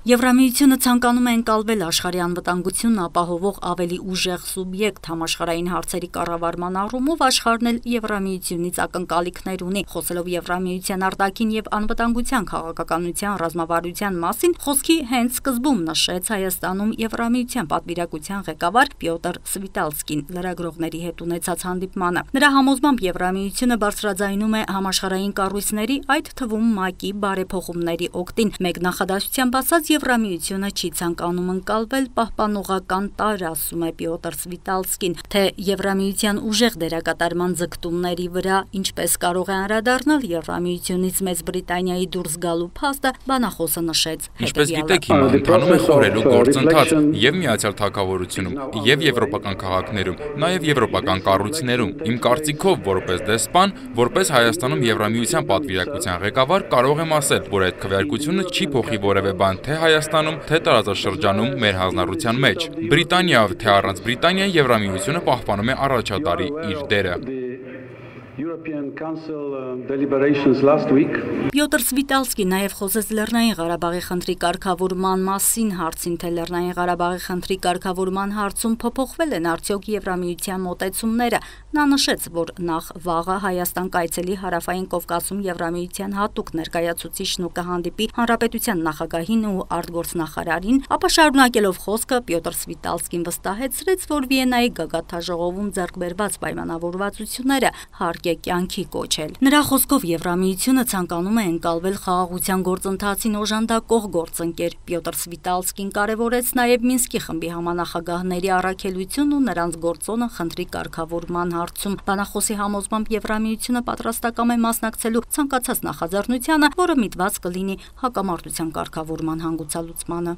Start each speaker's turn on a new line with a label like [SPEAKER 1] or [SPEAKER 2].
[SPEAKER 1] Եվրամիությունը ցանկանում է ընկալվել աշխարհի անվտանգությունն ապահովող ավելի ուժեղ սուբյեկտ, համաշխարհային հարցերի կառավարման առումով աշխարհն էլ Եվրամիությունից ակնկալիքներ ունի։ Խոսելով Եվրամիության արտաքին եւ անվտանգության քաղաքականության ռազմավարության մասին, խոսքի հենց սկզբում նշեց Հայաստանում Եվրամիության պատվիրակության ղեկավար Պյոտր Սվիտալսկին լրագրողների հետ ունեցած հանդիպմանը։ Նրա համոզմամբ Եվրամիությունը բարձրաձայնում է համաշխարհային կառույցների, այդ թվում ՄԱԿ-ի բարեփոխումների օգտին։ Մեկ նախադասությամբ ասած, Եվրամիությունը չի ցանկանում ընկալվել պահպանողական տարր, ասում է Պյոտր Սվիտալսկին, թե Եվրամիության ուժեղ դերակատարման ձգտումների վրա ինչպես կարող է անդրադառնալ Եվրամիությունից Մեծ Բրիտանիայի դուրս գալու փաստը, բանախոսը նշեց
[SPEAKER 2] Ինչպես գիտեք, հիմա ընթանում է խորելու գործընթաց եւ Միացյալ Թագավորությունում, եւ եվրոպական քաղաքներում, նաեւ եվրոպական կառույցներում։ Իմ կարծիքով, որպես դեսպան, որպես Հայաստանում Եվրամիության պատվիրակության ղեկավար, կարող եմ ասել, որ այդ քվեարկությունը չի փոխի որևէ բան թե Հայաստանում, թե տարածաշրջանում մեր հանրության մեջ։ Բրիտանիայով թե առանց Բրիտանիայի Եվրամիությունը պահպանում է առաջատարի իր դերը։
[SPEAKER 1] Պյոտր Սվիտալսկին նաև խոսեց Լեռնային Ղարաբաղի խնդրի կարգավորման մասին, հարցին, թե Լեռնային Ղարաբաղի խնդրի կարգավորման հարցում փոփոխվել են արդյոք Եվրամիության մոտեցումները։ Նա նշեց, որ նախ վաղը Հայաստան կայցելի Հարավային Կովկասում Եվրամիության հատուկ ներկայացուցիչն ու կհանդիպի Հանրապետության նախագահին ու արտգործնախարարին, ապա շարունակելով խոսքը Պյոտր Սվիտալսկին վստահեցրեց, որ Վիեննայի գագաթնաժողովում ձեռք բերված պայմանավորվածությունները հարկ է կյանքի կոչել։ Նրա խոսքով Եվրամիությունը ցանկանում է ընկալվել խաղաղության գործընթացին օժանդակող գործընկեր։ Պյոտր Սվիտալսկին կարևորեց նաև Մինսկի խմբի համանախագահների առաքելությունն ու նրանց գործոնը խնդրի կարգավորման հարցում։ Բանախոսի համոզմամբ Եվրամիությունը պատրաստակամ է մասնակցելու ցանկացած նախաձեռնությանը, որը միտված կլինի հակամարտության կարգավորման հանգուցալուծմանը։